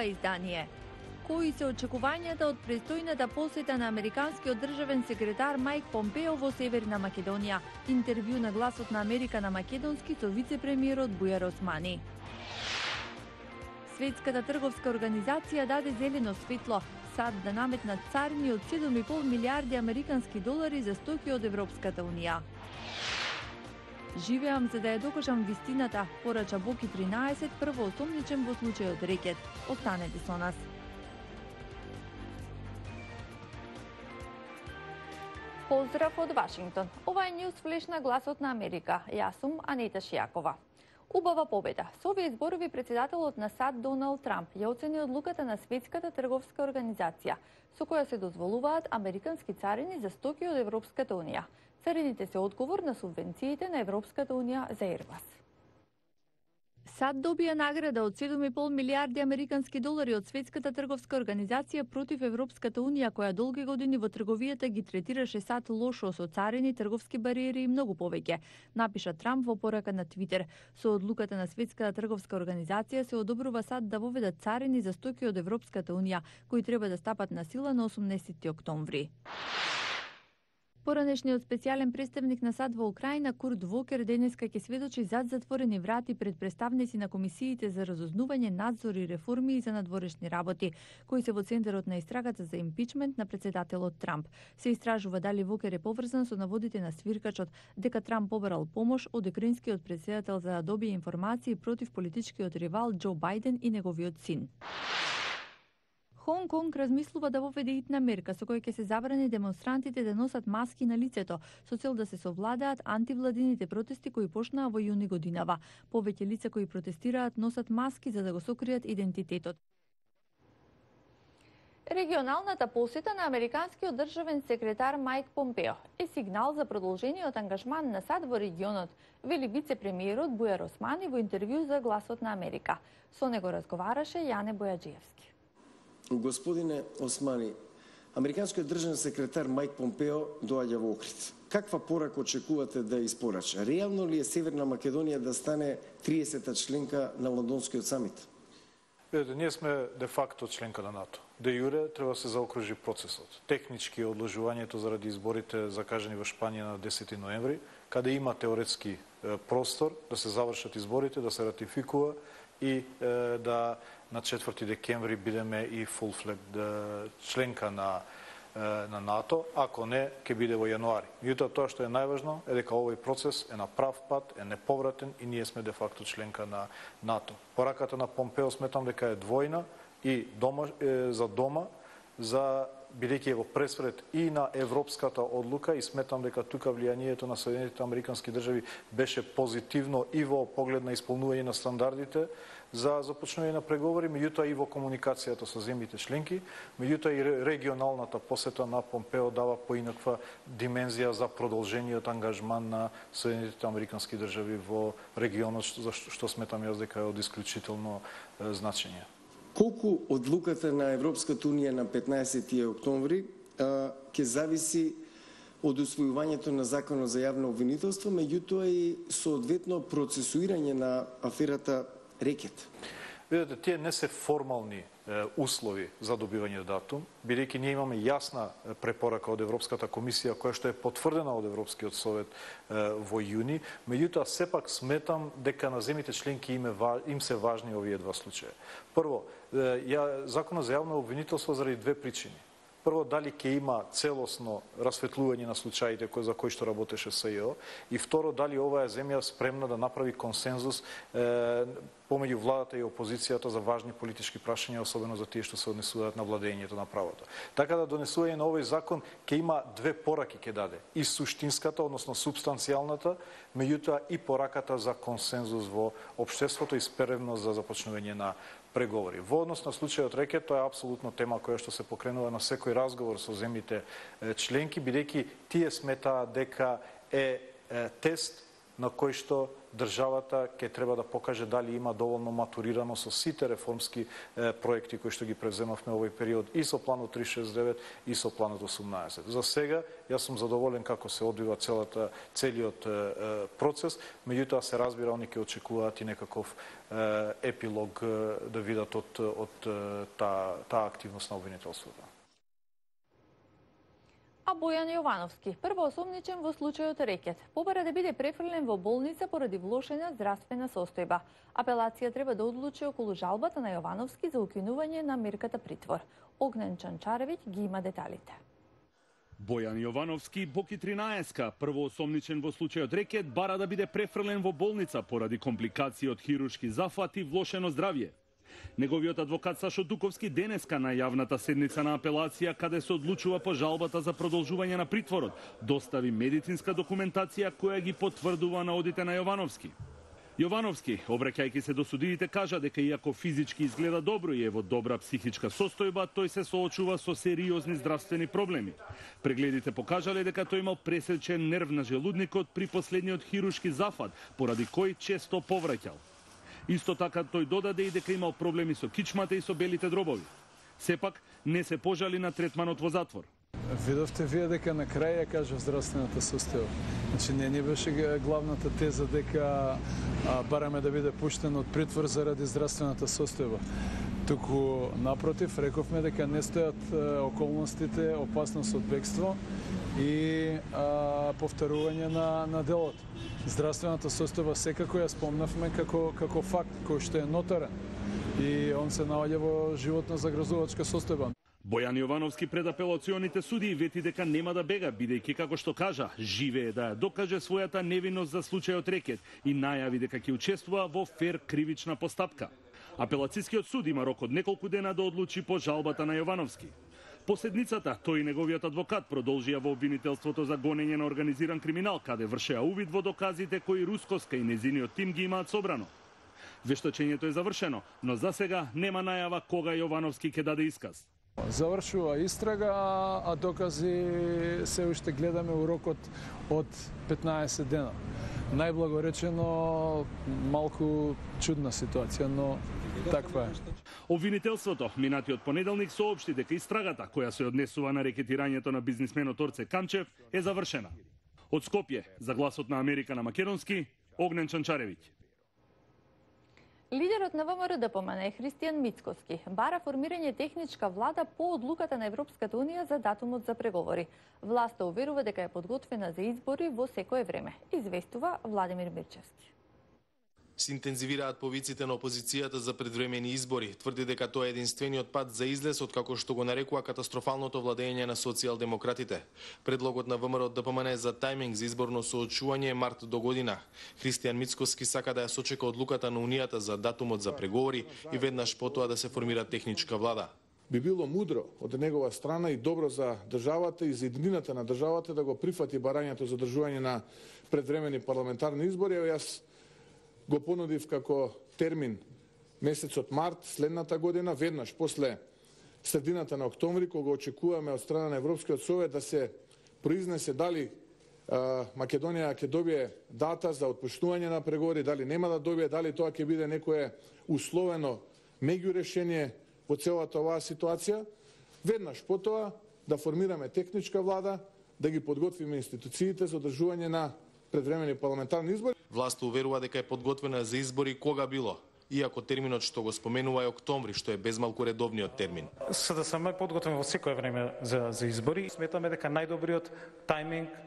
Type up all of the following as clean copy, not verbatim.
ова издание. Кои се очекувањата од престојната посета на американскиот државен секретар Мајк Помпео во Северна Македонија? Интервју на Гласот на Америка на македонски со вице-премиерот Бујар Османи. Светската трговска организација даде зелено светло САД да наметнат царини од 7,5 милиарди американски долари за стоки од Европската унија. Живеам за да ја докажам вистината, порача Боки 13, прво осомничен во случајот рекет. Останете со нас. Поздрав од Вашингтон. Ова е News Flash на Гласот на Америка. Јас сум Анета Шијакова. Убава победа. Со овие зборови председателот на САД Доналд Трамп ја оцени одлуката на Светската трговска организација, со која се дозволуваат американски царини за стоки од Европската унија. Царините се одговор на субвенциите на Европската унија за Airbus. САД добија награда од 7,5 милиарди американски долари од Светската трговска организација против Европската унија, која долги години во трговијата ги третираше САД лошо со царини, трговски бариери и многу повеќе, напиша Трамп во порака на Твитер. Со одлуката на Светската трговска организација се одобрува САД да воведат царини за стоки од Европската унија, кои треба да стапат на сила на 18 октомври. Поранешниот специјален представник на САД во Украина Курт Вокер денеска ќе сведочи зад затворени врати пред представници на комисиите за разузнување, надзор и реформи и за надворешни работи, кои се во центарот на истрагата за импичмент на председателот Трамп. Се истражува дали Вокер е поврзан со наводите на свиркачот дека Трамп побарал помош од украинскиот председател за да добие информации против политичкиот ривал Џо Бајден и неговиот син. Хонг Конг размислува да воведе итна мерка со која ќе се забрани демонстрантите да носат маски на лицето, со цел да се совладаат антивладините протести кои почнаа во јуни годинава. Повеќе лица кои протестираат носат маски за да го сокријат идентитетот. Регионалната посета на американскиот државен секретар Мајк Помпео е сигнал за продолжениот ангажман на САД во регионот, вели вице-премиерот Бујар Османи во интервју за Гласот на Америка. Со него разговараше Јане Бојаджиевски. Господине Османи, американскиот државен секретар Мајк Помпео доаѓа во Охрид. Каква порака очекувате да испорача? Реално ли е Северна Македонија да стане 30-та членка на Лондонскиот самит? Ние сме де факто членка на НАТО. Де јуре треба да се заокружи процесот. Технички одложувањето заради изборите закажани во Шпанија на 10 ноември, каде има теоретски простор да се завршат изборите, да се ратификува и да на 4 декември бидеме и full-fledged членка на НАТО, ако не, ќе биде во јануари. Меѓутоа, тоа што е најважно е дека овој процес е на прав пат, е неповратен и ние сме де факто членка на НАТО. Пораката на Помпео сметам дека е двојна и за дома, за бидејќи е во пресред и на европската одлука и сметам дека тука влијанието на Соединетите американски држави беше позитивно и во поглед на исполнување на стандардите за започнување на преговори, меѓутоа и во комуникацијата со земјите членки, меѓутоа и регионалната посета на Помпео дава поинаква димензија за продолжениот ангажман на Соединетите американски држави во регионот, што сметам јас дека е од исклучително значење. Колку одлуката на Европската унија на 15 октомври ќе зависи од усвојувањето на Законот за јавно обвинителство, меѓутоа и соодветно процесуирање на аферата Рекет? Видете, тие не се формални услови за добивање датум, бидејќи ние имаме јасна препорака од Европската комисија, која што е потврдена од Европскиот совет во јуни, меѓутоа сепак сметам дека на земјите членки им се важни овие два случаи. Прво, Законот за јавно обвинителство заради две причини. Прво, дали ќе има целосно расветлување на случаите за кои што работеше СЈО, и второ, дали оваа земја спремна да направи консензус помеѓу владата и опозицијата за важни политички прашања, особено за тие што се однесуваат на владењето на правото. Така да донесување на овој закон ќе има две пораки ќе даде. И суштинската, односно субстанцијалната, меѓутоа и пораката за консензус во општеството и спремност за започнување на преговори. Во однос на случајот Рекет, тоа е апсолутно тема која што се покренува на секој разговор со земјите членки, бидејќи тие сметаат дека е тест на кој што државата ќе треба да покаже дали има доволно матурирано со сите реформски проекти кои што ги превземавме овој период и со планот 369 и со планот 18. За сега јас сум задоволен како се одвива целиот процес, меѓутоа се разбира они ќе очекуваат и некаков епилог да видат од таа активност на обвинителството. А Бојан Јовановски, првоосомничен во случајот Рекет, побара да биде префрлен во болница поради влошена здравствена состојба. Апелација треба да одлучи околу жалбата на Јовановски за укинување на мерката притвор. Огнен Чанчаревиќ ги има деталите. Бојан Јовановски, Боки 13-ка, првоосомничен во случајот Рекет, бара да биде префрлен во болница поради компликации од хируршки зафат и влошено здравје. Неговиот адвокат Сашо Дуковски денеска на јавната седница на апелација, каде се одлучува по жалбата за продолжување на притворот, достави медицинска документација која ги потврдува наодите на Јовановски. Јовановски, обраќајќи се до судиите, кажа дека иако физички изгледа добро и е во добра психичка состојба, тој се соочува со сериозни здравствени проблеми. Прегледите покажале дека тој имал пресечен нерв на желудникот при последниот хируршки зафат, поради кој често повраќал. Исто така тој додаде и дека имал проблеми со кичмата и со белите дробови. Сепак не се пожали на третманот во затвор. Видовте вие дека на крај ја кажа здравствената состојба. Значи не беше главната теза дека бараме да биде пуштен од притвор заради здравствената состојба. Туку напротив рековме дека не стојат околностите, опасност од бегство и повторување на делото. Здравствената состојба секако ја спомнавме како факт кој што е нотарен и он се наоѓа во животно загрозувачка состојба. Бојан Јовановски пред апелационите судии вети дека нема да бега, бидејќи како што кажа, живее да ја докаже својата невиност за случајот Рекет и најави дека ќе учествува во фер кривична постапка. Апелацискиот суд има рок од неколку дена да одлучи по жалбата на Јовановски. По седницата, тој и неговиот адвокат продолжија во обвинителството за гонење на организиран криминал, каде вршеа увид во доказите кои Рускоска и незиниот тим ги имаат собрано. Вештачењето е завршено, но за сега нема најава кога Јовановски ќе даде исказ. Завршува истрага, а докази се уште гледаме у рокот од 15 дена. Најблаго речено, малку чудна ситуација, но таква е. Обвинителството минатиот понеделник соопшти дека истрагата која се однесува на рекетирањето на бизнисменот Орце Камчев е завршена. Од Скопје, за Гласот на Америка на македонски, Огнен Чанчаревиќ. Лидерот на ВМРО ДПМН Христијан Мицкоски бара формирање техничка влада по одлуката на Европската унија за датумот за преговори. Власта уверува дека е подготвена за избори во секое време, известува Владимир Мирчевски. Се интензивираат повиците на опозицијата за предвремени избори. Тврди дека тоа е единствениот пат за излез од како што го нарекува катастрофалното владење на социјалдемократите. Предлогот на ВМРО ДПМН за тајминг за изборно соочување е март до година. Христијан Мицкоски сака да ја сочека одлуката на Унијата за датумот за преговори и веднаш потоа да се формира техничка влада. Би било мудро од негова страна и добро за државата и за еднината на државата да го прифати барањето за одржување на предвремени парламентарни избори. Јас го понудив како термин месецот март следната година, веднаш после средината на октомври, кога очекуваме од страна на Европскиот совет да се произнесе дали Македонија ќе добие дата за отпуштување на преговори, дали нема да добие, дали тоа ќе биде некое условено меѓу решение во целата оваа ситуација. Веднаш потоа да формираме техничка влада, да ги подготвиме институциите за одржување на предвремени парламентарни избори. Власта уверува дека е подготвена за избори кога било, иако терминот што го споменува е октомври, што е безмалку редовниот термин. СДСМ е подготвен во секое време за избори. Сметаме дека најдобриот тајминг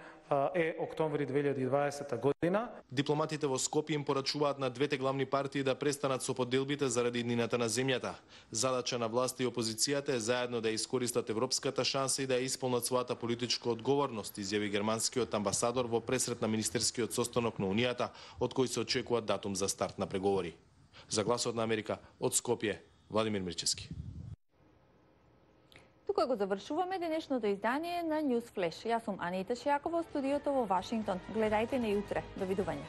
е октомври 2020 година. Дипломатите во Скопје им порачуваат на двете главни партии да престанат со поделбите заради иднината на земјата. Задача на власта и опозицијата е заедно да искористат европската шанса и да ја исполнат својата политичка одговорност, изјави германскиот амбасадор во пресрет на министерскиот состанок на Унијата, од кој се очекува датум за старт на преговори. За Гласот на Америка, од Скопје, Владимир Мирчевски. Тука го завршуваме денешното издание на News Flash. Јас сум Анита Шијакова од студиото во Вашингтон. Гледајте не утре. Довидување.